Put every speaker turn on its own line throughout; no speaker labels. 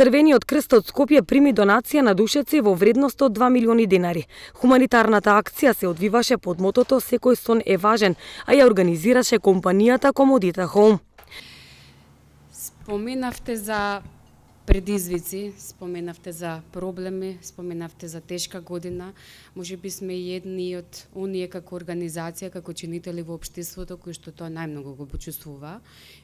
Црвениот крст од Скопје прими донација на душеци во вредност од 2 милиони денари. Хуманитарната акција се одвиваше под мотото "Секој сон е важен", а ја организираше компанијата Комодита Хоум.
Споменавте за предизвици, споменавте за проблеми, споменавте за тешка година. Можеби сме едни од оние како организација, како чинители во општеството кои што тоа најмногу го почувствува,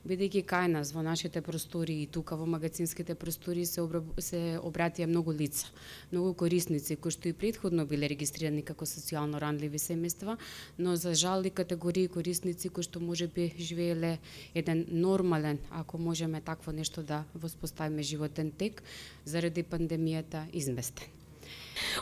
бидејќи кај нас во нашите простори и тука во магазинските простори се обратија многу лица, многу корисници кои што и претходно биле регистрирани како социјално ранливи семејства, но за жал и категории корисници кои што можеби живееле еден нормален, ако можеме такво нешто да воспоставиме животен тек, заради пандемијата изместен.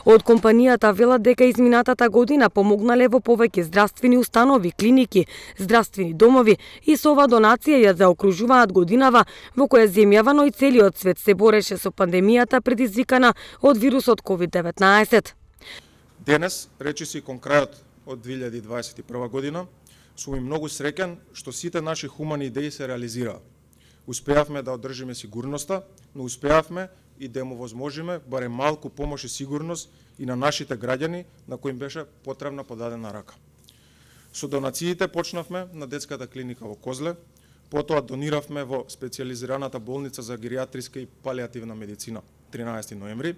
Од компанијата велат дека изминатата година помогнале во повеќе здравствени установи, клиники, здравствени домови и со ова донација ја заокружуваат годинава во која земјава, но и целиот свет се бореше со пандемијата предизвикана од вирусот COVID-19.
Денес, речиси кон крајот од 2021 година, сум и многу среќен што сите наши хумани идеи се реализираа. Успеавме да одржиме сигурноста, но успеавме и да му возможиме барем малку помош и сигурност и на нашите граѓани на кои им беше потребна подадена рака. Со донациите почнавме на детската клиника во Козле, потоа дониравме во специјализираната болница за геријатриска и палијативна медицина 13 ноември,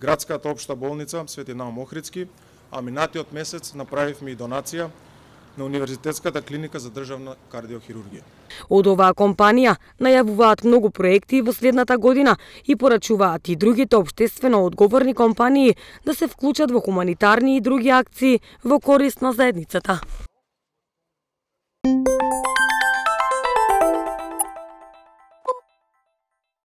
градската општа болница Свети Наум Охридски, а минатиот месец направивме и донација на Универзитетската клиника за државна кардиохирургија.
Од оваа компанија најавуваат многу проекти во следната година и порачуваат и другите општествено одговорни компании да се вклучат во хуманитарни и други акции во корист на заедницата.